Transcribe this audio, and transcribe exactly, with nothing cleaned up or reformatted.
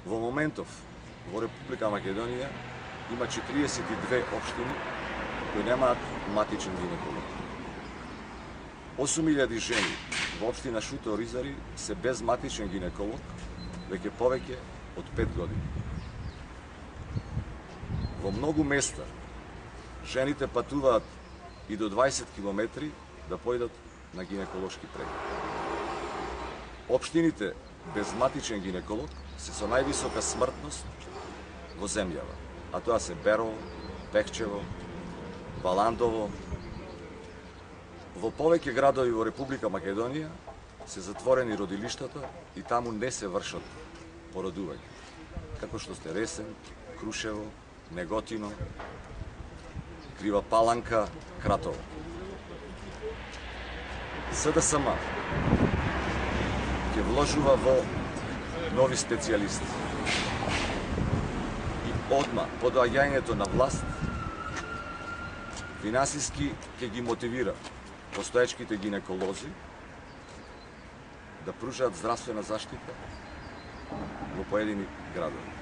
Во моментов во Република Македонија има четириесет и две општини кои немаат матичен гинеколог. осум илјади жени во општина Шуто Оризари се без матичен гинеколог веќе повеќе од пет години. Во многу места жените патуваат и до дваесет километри да појдат на гинеколошки преглед. Општините без матичен гинеколог се со највисока смртност во земјава, а тоа се Берово, Бехчево, Баландово. Во повеќе градови во Република Македонија се затворени родилиштата и таму не се вршат породување, како што сте Ресен, Крушево, Неготино, Крива Паланка, Кратово. СДСМ ќе вложува во нови специјалисти и одма по доаѓањето на власт финансиски ќе ги мотивира постоечките гинеколози да пружаат здравствена заштита во поедини градови.